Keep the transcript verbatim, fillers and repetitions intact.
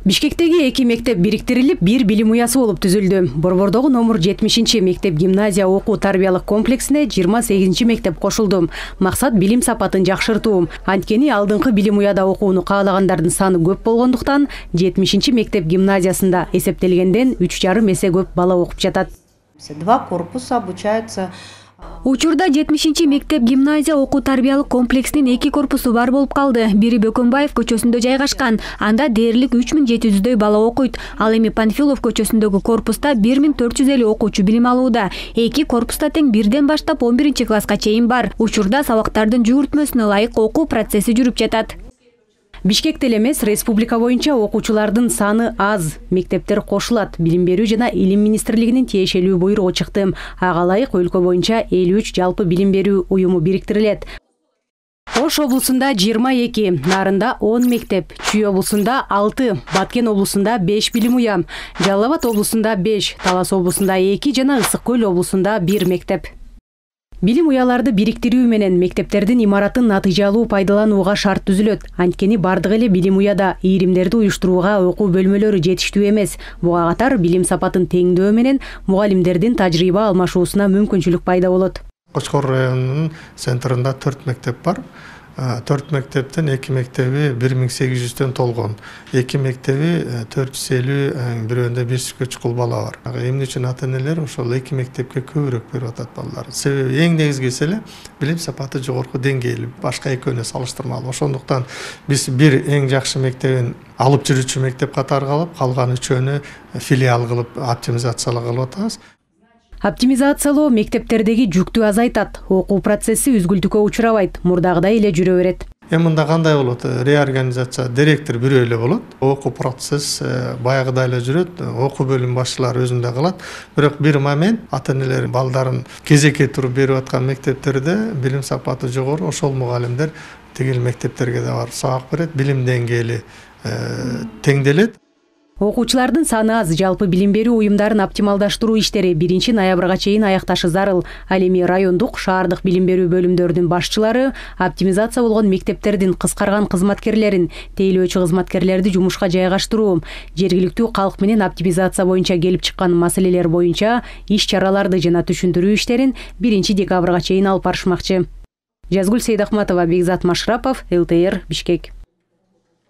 Бишкектеги эки мектеп бириктирилип, бир билим уясы болуп түзүлдү. Борбордогу номер жетимишинчи мектеп гимназия окуу тарбиялык комплексине жыйырма сегизинчи мектеп кошулду. Максат билим сапатын жакшыртуу. Анткени алдыңкы билим уяда окууну каалагандардын саны көп болгондуктан жетимишинчи мектеп гимназиясында эсептелгенден үч жарым эсе көп бала окуп жатат. Два корпуса обучаются. Учурда жетимишинчи мектеп гимназия окуу тарбиялык комплексинин эки корпусу бар болуп калды. Бири Бөкөнбаев көчөсүндө жайгашкан. Анда дээрлик үч миң жети жүздөй бала окуйт. Ал эми Панфилов көчөсүндөгү корпуста бир миң төрт жүз элүү окуучу билим алууда. Эки корпуста тең бирден баштап он биринчи класска чейин бар. Учурда сабактардын жүгүртмөсүнө ылайык окуу процесси жүрүп жатат. Бишкекте эмес, республика боюнча окуучулардын саны аз. Мектептер кошулат. Билим берүү жана илим министрлигинин тиешелүү буйругу чыкты. Ага ылайык өлкө боюнча элүү үч жалпы билим берүү уюму бириктирилет. Ош облусунда жыйырма эки, Нарында он мектеп, Чүй облусунда алты, Баткен облусунда беш билим уя, Жалал Абад облусунда беш, Талас облусунда эки жана Ысык Көл облусунда бир мектеп. Билим уяларды бириктирүү менен мектептердин имаратын натыйжалуу пайдаланууга шарт түзүлөт. Анткени бардык эле билим уяда ийримдерди уюштурууга окуу бөлмөлөрү жетиштүү эмес. Буга катар билим сапатын теңдөө менен мугалимдердин тажрыйба алмашуусуна мүмкүнчүлүк пайда болот. Кочкор районунун центринде төрт мектеп бар. төрт мектептен эки мектеби бир миң сегиз жүздөн толгон. эки мектеби төрт жүз элүү, бирөөндө беш жүзгө чукул бала бар. Эмне үчүн ата-энелер ошол эки мектепке көбүрөөк берип атат балдар. Себеби эң негизгиси эле билим сапаты жогорку деңгээлүү, башка экөөнө салыштырмалуу. Ошондуктан биз бир эң жакшы мектебин алып жүрүүчү мектеп катары калып, калган үчөөнү филиал кылып оптимизациялоо кылып атабыз. Оптимизациялоо мектептердеги жүктү азайтат. Окуу процесси үзгүлтүккө учурабайт, мурдагыдай эле жүрө берет. Эми мында кандай болот? Реорганизация директор бирөө эле болот. Окуу процесс баягыдай эле жүрөт. Окуу бөлүм башчылары өзүндө кылат. Бирок бир момент ата-энелер балдарын кезекке туруп берип аткан мектептерде билим сапаты жогору ошол мугалимдер тигил мектептерге да барып сабак берет. Билим деңгээли теңделет. Окуучулардын саны аз, жалпы билим берүү уюмдарын оптималдаштыруу иштери биринчи ноябрга чейин аякташы зарыл. Ал эми райондук, шаардык билим берүү бөлүмдөрүнүн башчылары оптимизация болгон мектептердин кыскарган кызматкерлерин, тейлөөчү кызматкерлерди жумушка жайгаштыруу, жергиликтүү калк менен оптимизация боюнча келип чыккан маселелер боюнча иш-чараларды жана түшүндүрүү иштерин биринчи декабрга чейин алып барышмакчы. Жазгүл Сейдахматова, Бекзат Машрапов, эл тэ эр, Бишкек.